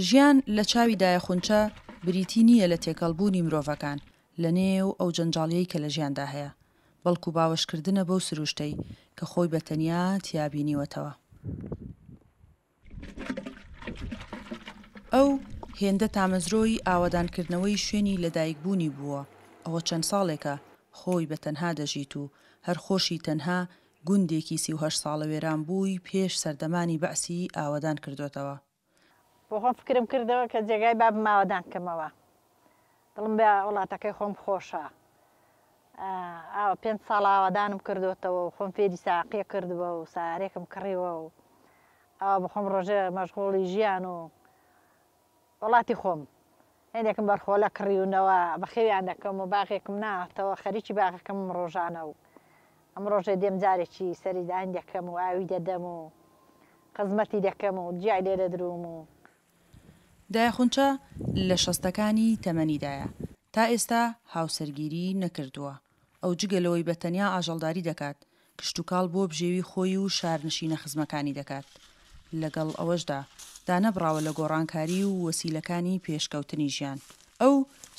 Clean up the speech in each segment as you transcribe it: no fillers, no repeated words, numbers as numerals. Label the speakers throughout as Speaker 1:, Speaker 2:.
Speaker 1: ژیان لە چاوی دایە خونچە بریتی نییە لە تێکەڵبوونی مرۆڤەکان لە نێو ئەو جەنجاڵیەی کە لە ژیاندا هەیە، بەڵکو باوەشکردنە بەو سروشتەی کە خۆی بە تەنیا تیا بینیوەتەوە. ئەو هێندە تامەزرۆی ئاوەدانکردنەوەی شوێنی لەدایکبوونی بووە، ئەوە چەند ساڵێکە خۆی بە تەنها دەژیت و هەر خۆشی تەنها گوندێکی 38 ساڵە وێرانبووی پێش سەردەمانی بەعسی ئاوەدان کردۆتەوە.
Speaker 2: بۆ خۆم فکرم کردەوە کە جێگای بابم ئاوەدان کەمەوە. دڵم بە وڵاتەکەی خۆم خۆشە. ئاوە پێنج ساڵە ئاوەدانم کردۆتەوە و خۆم فێری ساقیە کردووە و سارێکم کڕیوە و ئاوا بە خۆم ڕۆژێ مەشغوڵی ژیان و وڵاتی خۆم. هێندێکم بەرخۆلە کڕیونەوە بەخێویان دەکەم و باغێکم ناوەتەوە خەریکی باغەکەمم ڕۆژانە و ئەم ڕۆژێ دێم جارێکی سەری داین دەکەم و ئاوی دەدەم و خزمەتی دەکەم و جیای لێ دەدروم و.
Speaker 1: دایە خونچە لە شەستەکانی تەمەنیدایە، تا ئێستا هاوسەرگیری نەکردووە. ئەو جگە لەوەی بە تەنیا ئاژەڵداری دەکات، کشتوکاڵ بۆ بژێوی خۆی و شارنشینە خزمەکانی دەکات. لەگەڵ ئەوەشدا دانەبڕاوە لە گۆڕانکاری و وەسیلەکانی پێشکەوتنی ژیان. ئەو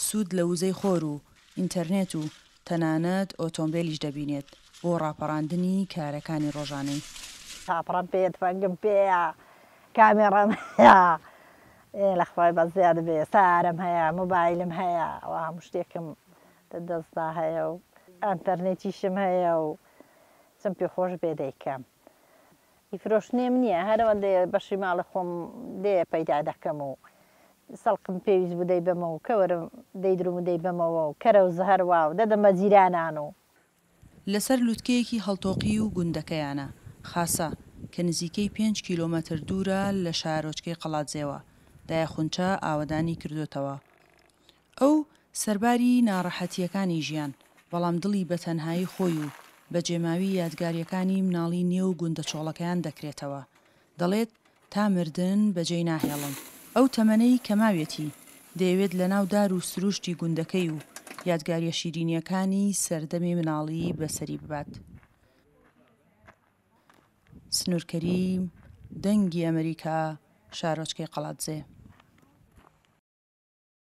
Speaker 1: سوود لە وزەی خۆر و ئینتەرنێت و تەنانەت ئۆتۆمبێلیش دەبینێت بۆ ڕاپەڕاندنی کارەکانی ڕۆژانەی.
Speaker 2: تاپڕەم پێیە، تفەنگم پێیە، کامێڕام هەیە، ئێ لە خوای بەزیاد بێ، سەیارەم هەیە، مۆبایلم هەیە، ئەوە هەموو شتێکم لە دەستدا هەیە و ئەنتەرنێتیشم هەیە و چم پێ خۆش بێ دەیکەم. ئی فرۆشتنێم نییە، هەر ئەوەندەیە بەشی ماڵی خۆم لێ پەیدا دەکەم و سەڵقم پێویست بوو دەیبەمەوە و کەوەرم دەیدروم و دەیبەمەوە و کەرەوز هەروا و دەدەم بە جیرانان و.
Speaker 1: لەسەر لوتکەیەکی هەڵتۆقیو گوندەکەیانە، خاسە، کە نزیکەی پێنج کیلۆمەتر دوورە لە شارۆچکەی قەڵادزێوە، دایە خونچە ئاوەدانی کردۆتەوە. ئەو سەرباری ناڕەحەتییەکانی ژیان، بەڵام دڵی بە تەنهایی خۆی و بەجێماوی یادگارییەکانی مناڵی نێو گوندە چۆڵەکەیان دەکرێتەوە. دەڵێت، تا مردن بەجێی ناهێڵم. ئەو تەمەنەی کە ماویەتی، دەیەوێت لەناو دار و سرووشتی گوندەکەی و یادگارییە شیرینییەکانی سەردەمی مناڵی بەسەری ببات. سنوور کەریم، دەنگی ئەمریکا، شارۆچکەی قەڵادزێ.